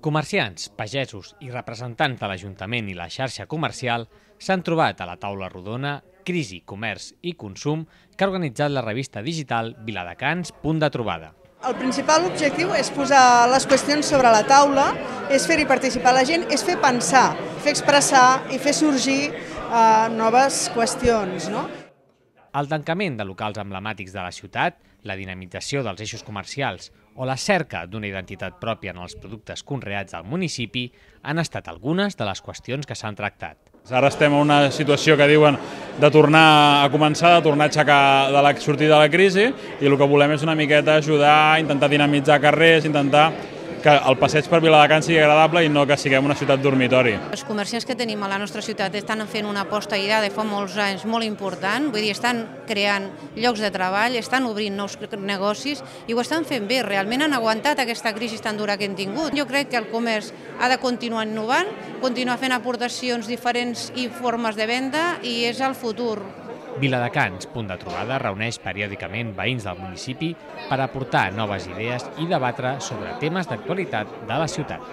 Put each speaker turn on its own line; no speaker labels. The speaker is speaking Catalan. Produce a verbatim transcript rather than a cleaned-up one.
Comerciants, pagesos i representants de l'Ajuntament i la xarxa comercial s'han trobat a la taula rodona Crisi, Comerç i Consum que ha organitzat la revista digital Viladecans, punt de trobada.
El principal objectiu és posar les qüestions sobre la taula, és fer-hi participar la gent, és fer pensar, fer expressar i fer sorgir uh, noves qüestions, no?
El tancament de locals emblemàtics de la ciutat, la dinamització dels eixos comercials o la cerca d'una identitat pròpia en els productes conreats al municipi han estat algunes de les qüestions que s'han tractat.
Ara estem en una situació que diuen de tornar a començar, de tornar a aixecar de la sortida de la crisi, i el que volem és una miqueta ajudar, intentar dinamitzar carrers, intentar que el passeig per Viladecans sigui agradable i no que siguem una ciutat dormitori.
Els comerciants que tenim a la nostra ciutat estan fent una aposta ja de fa molts anys molt important, vull dir, estan creant llocs de treball, estan obrint nous negocis i ho estan fent bé, realment han aguantat aquesta crisi tan dura que hem tingut. Jo crec que el comerç ha de continuar innovant, continuar fent aportacions diferents i formes de venda i és el futur.
Viladecans, punt de trobada, reuneix periòdicament veïns del municipi per aportar noves idees i debatre sobre temes d'actualitat de la ciutat.